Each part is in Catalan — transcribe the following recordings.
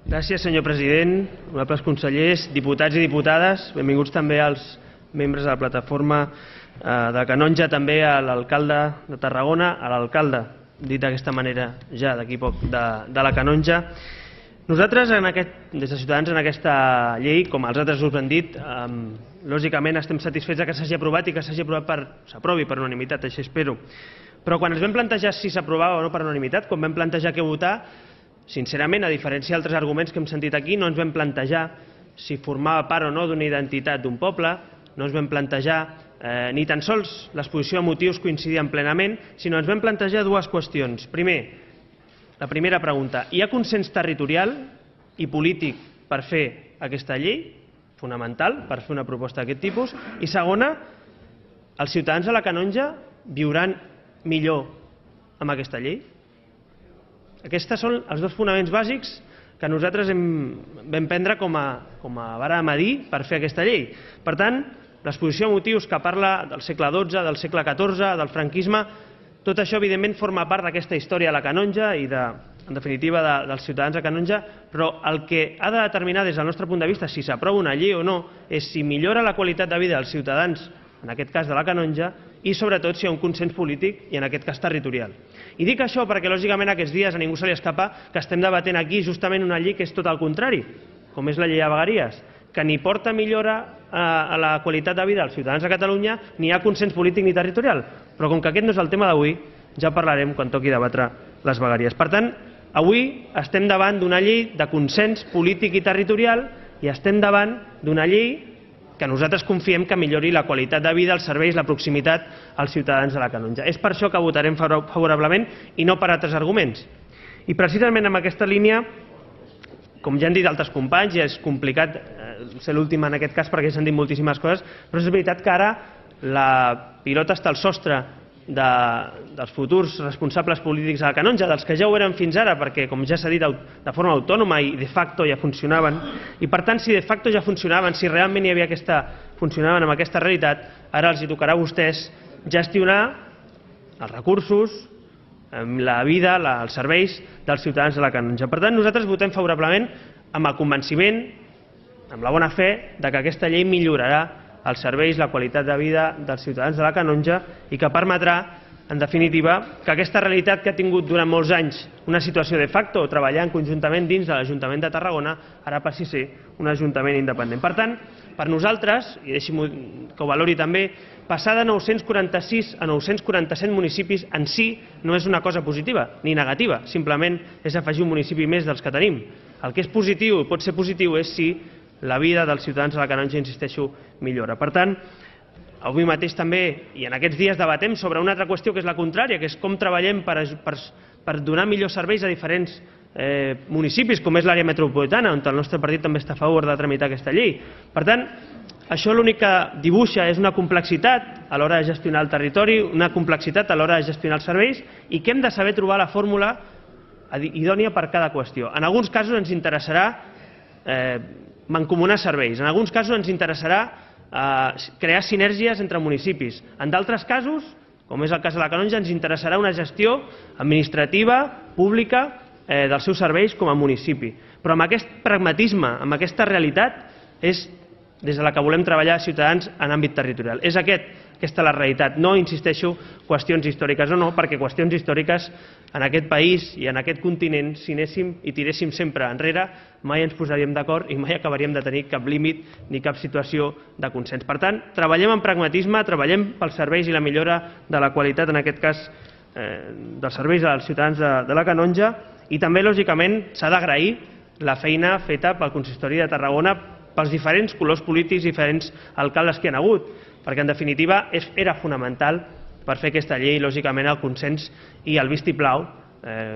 Gràcies, senyor president, honorables consellers, diputats i diputades, benvinguts també als membres de la plataforma de Canonja, també a l'alcalde de Tarragona, a l'alcalde, dit d'aquesta manera ja d'aquí poc, de la Canonja. Nosaltres, des de Ciutadans, en aquesta llei, com els altres grups han dit, lògicament estem satisfets que s'hagi aprovat i que s'aprovi per unanimitat, així espero. Però quan ens vam plantejar si s'aprovava o no per unanimitat, quan vam plantejar què votar, sincerament, a diferència d'altres arguments que hem sentit aquí, no ens vam plantejar si formava part o no d'una identitat d'un poble, no ens vam plantejar ni tan sols l'exposició de motius coincidien plenament, sinó ens vam plantejar dues qüestions. Primer, la primera pregunta, hi ha consens territorial i polític per fer aquesta llei, fonamental, per fer una proposta d'aquest tipus? I segona, els ciutadans de la Canonja viuran millor amb aquesta llei? Aquests són els dos fonaments bàsics que nosaltres vam prendre com a vara de medir per fer aquesta llei. Per tant, l'exposició de motius que parla del segle XII, del segle XIV, del franquisme, tot això evidentment forma part d'aquesta història de la Canonja i, en definitiva, dels ciutadans de Canonja, però el que ha de determinar des del nostre punt de vista si s'aprova una llei o no és si millora la qualitat de vida dels ciutadans, en aquest cas de la Canonja, i sobretot si hi ha un consens polític i en aquest cas territorial. I dic això perquè lògicament aquests dies a ningú se li escapa que estem debatent aquí justament una llei que és tot el contrari, com és la llei de vegueries, que ni porta millora a la qualitat de vida dels ciutadans de Catalunya ni hi ha consens polític ni territorial. Però com que aquest no és el tema d'avui, ja parlarem quan toqui debatre les vegueries. Per tant, avui estem davant d'una llei de consens polític i territorial i estem davant d'una llei que nosaltres confiem que millori la qualitat de vida, els serveis, la proximitat als ciutadans de la Canonja. És per això que votarem favorablement i no per altres arguments. I precisament en aquesta línia, com ja han dit altres companys, ja és complicat ser l'últim en aquest cas perquè s'han dit moltíssimes coses, però és veritat que ara la pilota està al sostre dels futurs responsables polítics de la Canonja, dels que ja ho eren fins ara, perquè, com ja s'ha dit, de forma autònoma i de facto ja funcionaven. I, per tant, si de facto ja funcionaven, si realment hi havia funcionaven amb aquesta realitat, ara els tocarà a vostès gestionar els recursos, la vida, els serveis dels ciutadans de la Canonja. Per tant, nosaltres votem favorablement amb el convenciment, amb la bona fe, que aquesta llei millorarà els serveis, la qualitat de vida dels ciutadans de la Canonja i que permetrà, en definitiva, que aquesta realitat que ha tingut durant molts anys una situació de facto, treballant conjuntament dins de l'Ajuntament de Tarragona, ara passi a ser un ajuntament independent. Per tant, per nosaltres, i deixi'm que ho valori també, passar de 946 a 947 municipis en si no és una cosa positiva ni negativa, simplement és afegir un municipi més dels que tenim. El que és positiu i pot ser positiu és si la vida dels ciutadans de la Canonja, insisteixo, millora. Per tant, avui mateix també, i en aquests dies debatem sobre una altra qüestió que és la contrària, que és com treballem per donar millors serveis a diferents municipis, com és l'àrea metropolitana, on el nostre partit també està a favor de tramitar aquesta llei. Per tant, això l'únic que dibuixa és una complexitat a l'hora de gestionar el territori, una complexitat a l'hora de gestionar els serveis, i que hem de saber trobar la fórmula idònia per cada qüestió. En alguns casos ens interessarà mancomunar serveis. En alguns casos ens interessarà crear sinergies entre municipis. En d'altres casos, com és el cas de la Canonja, ens interessarà una gestió administrativa, pública, dels seus serveis com a municipi. Però amb aquest pragmatisme, amb aquesta realitat, és des de la que volem treballar ciutadans en àmbit territorial. És aquesta la realitat. No, insisteixo, qüestions històriques o no, perquè qüestions històriques en aquest país i en aquest continent, si anéssim i tiréssim sempre enrere, mai ens posaríem d'acord i mai acabaríem de tenir cap límit ni cap situació de consens. Per tant, treballem amb pragmatisme, treballem pels serveis i la millora de la qualitat, en aquest cas, dels serveis als ciutadans de la Canonja, i també, lògicament, s'ha d'agrair la feina feta pel Consistori de Tarragona, pels diferents colors polítics i diferents alcaldes que hi ha hagut, perquè, en definitiva, era fonamental per fer aquesta llei, lògicament, el consens i el vistiplau,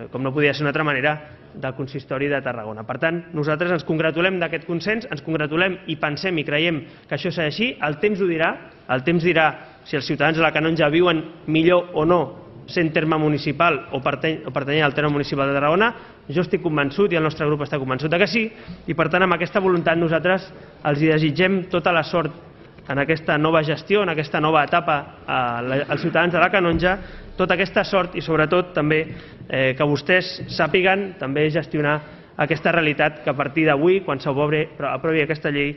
com no podia ser d'una altra manera, del Consistori de Tarragona. Per tant, nosaltres ens congratulem d'aquest consens, ens congratulem i pensem i creiem que això serà així. El temps ho dirà, el temps dirà si els ciutadans de la Canonja viuen millor o no sent terme municipal o pertanyent al terme municipal de Tarragona. Jo estic convençut i el nostre grup està convençut que sí, i per tant amb aquesta voluntat nosaltres els desitgem tota la sort en aquesta nova gestió, en aquesta nova etapa als ciutadans de la Canonja, tota aquesta sort i sobretot també que vostès sàpiguen també gestionar aquesta realitat que a partir d'avui, quan s'aprovi aquesta llei,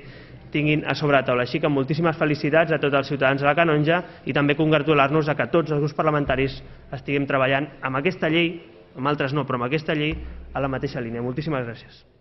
tinguin a sobre la taula. Així que moltíssimes felicitats a tots els ciutadans de la Canonja i també congratular-nos que tots els grups parlamentaris estiguem treballant amb aquesta llei, amb altres no, però amb aquesta llei, a la mateixa línia. Moltíssimes gràcies.